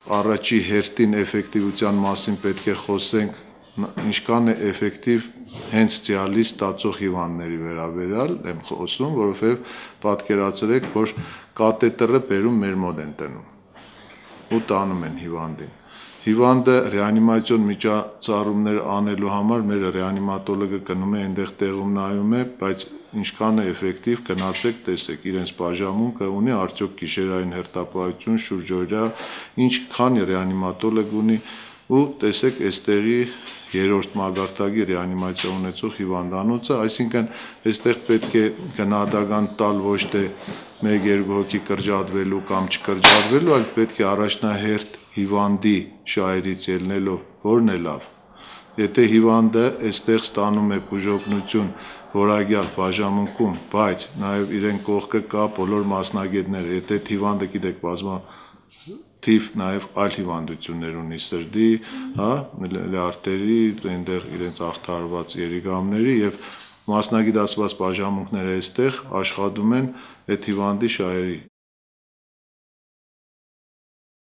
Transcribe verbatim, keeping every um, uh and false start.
առաջի հերթին էֆեկտիվության մասին պետք է խոսենք, ինչքան է էֆեկտիվ հենց դիալիզ ստացող հիվանդների վերաբերյալ եմ խոսում, որովհետև պատկերացրեք, որ կաթետրը բերում մեր մոտ են տնում ու տանում են հիվանդին։ Հիվանդը ռեանիմացիոն միջոցառումներ անելու համար մեր ռեանիմատոլոգը գնում է այնտեղ տեղում նայում է, բայց ինչքան է էֆեկտիվ գնացեք տեսեք իրենց բաժանմունքը ունի, արդյոք գիշերային հերթապահություն, շուրջօրյա, ինչքան ռեանիմատոլոգ ունի ու տեսեք այստեղի երրորդ մագարտակի ռեանիմացիա ունեցող հիվանդանոցը, այսինքն այստեղ պետք է գնահատական տալ ոչ թե մեկ-երկու հոգի կրճատվելու կամ չկրճատվելու, այլ պետք է առաջնահերթ հիվանդի շահերից ելնելով որն է լավ։ Եթե հիվանդը այստեղ ստանում է բուժօգնություն որակյալ բաժանմունքում, բայց նաև իրեն կողքը կա բոլոր մասնագետները, եթե հիվանդը գիտեք բազմաթիվ նաև այլ հիվանդություններ ունի սրտի, հա, լյարդերի, այնտեղ իրենց ախտարված երիկամների եւ մասնագիտացված բաժանմունքները այստեղ աշխատում են այդ հիվանդի շահերի